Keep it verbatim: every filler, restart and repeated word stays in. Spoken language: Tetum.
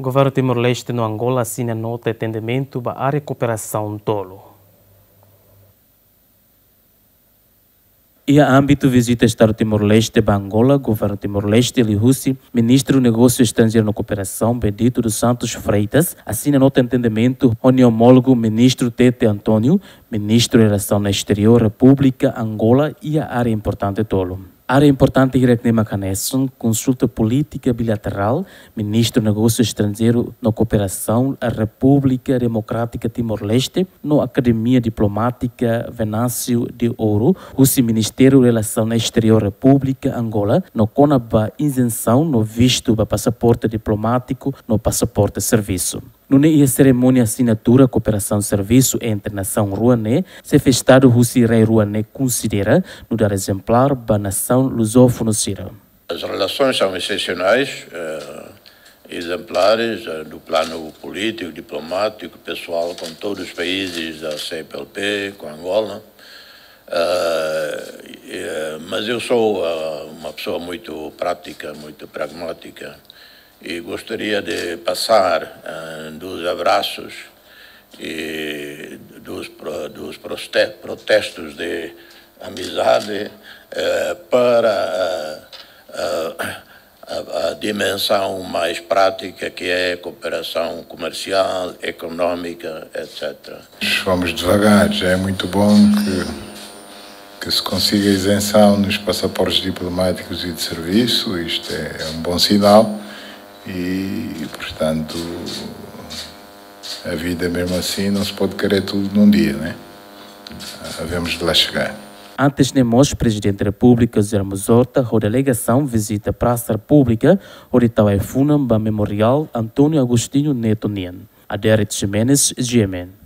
Governu Timor-Leste no Angola asina nota entendimentu ba área kooperasaun tolu. Iha ámbitu vizita Estadu Timor-Leste ba Angola, Governu Timor-Leste liuhusi Ministru Negósiu Estranjeiru no Kooperasaun, Benedito dos Santos Freitas, asina nota entendimentu ho nia omólogu Ministru Tete António, Ministru Relasaun Esteriór Repúblika Angola, iha área importante tolu. Área importante hirak-ne'e mak hanesan konsulta polítika bilaterál, Ministru Negósiu Estranjeiru no Kooperasaun Repúblika Demokrátika Timor-Leste, no Akademia Diplomátika Venâncio de Ouro, husi Ministériu Relasaun Esteriór Repúblika Angola, no kona-ba izensaun no vistu ba pasaporte diplomátiku no pasaporte servisu. Nune'e iha serimónia asinatura kooperasaun servisu entre nasaun rua ne'e, xefe Estadu husi rai rua ne'e konsidera nu'udar ezemplár ba nasaun lusófonu sira. As relações são excepcionais, eh, exemplares, eh, do plano político, diplomático, pessoal, com todos os países da C P L P, com Angola. Eh, eh, mas eu sou, eh, uma pessoa muito prática, muito pragmática, e gostaria de passar, eh, dos abraços e dos pro-, dos proste-, protestos de amizade, eh, para, eh, eh, a, a dimensão mais prática, que é a cooperação comercial, económica, et cetera. Vamos devagar, já é muito bom que, que se consiga isenção nos passaportes diplomáticos e de serviço, isto é, é um bom sinal e, portanto, a vida mesmo assim não se pode querer tudo num dia, né? Havemos de lá chegar. Antes ne'e mós, Prezidente Repúblika José Ramos Horta ho delegasaun vizita Prasa Repúblika, hodi tau ai-funan ba Memoriál António Agostinho Neto nian. Adérito Ximenes, G M N.